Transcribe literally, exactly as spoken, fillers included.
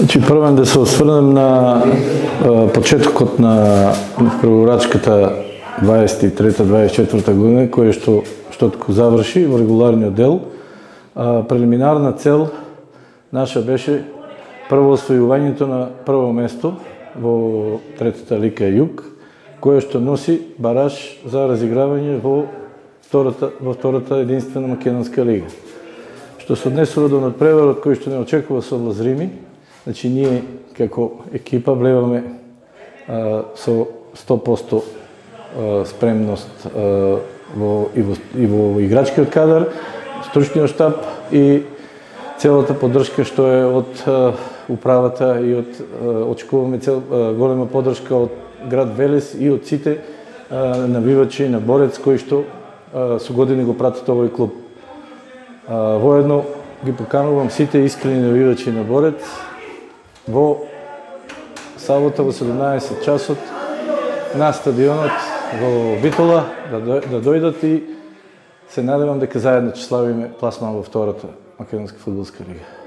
Значи, првен да се осврнем на а, почетокот на преговорачката дваесет и трета дваесет и четврта година, која што што го заврши во регуларниот дел. А, прелиминарна цел наша беше прво освојувањето на прво место во третата лига Југ, која што носи бараж за разигравање во втората во втората единствена македонска лига. Што се однесува до надпреварот кој што не очекува со Лазрими, значи ние како екипа влеваме а, со сто проценти а, спремност а, во, и, во, и во играчкиот кадар, стручниот штаб и целата поддршка што е од а, управата и од а, очекуваме цел, а, голема поддршка од град Велес и од сите а, навивачи на Борец кои што а, со години го пратат овој клуб. А, воедно ги поканувам сите искрени навивачи на Борец во сабота во седумнаесет часот на стадионот во Битола да, да дојдат и се надевам дека заедно ќе славиме пласман во втората македонска фудбалска лига.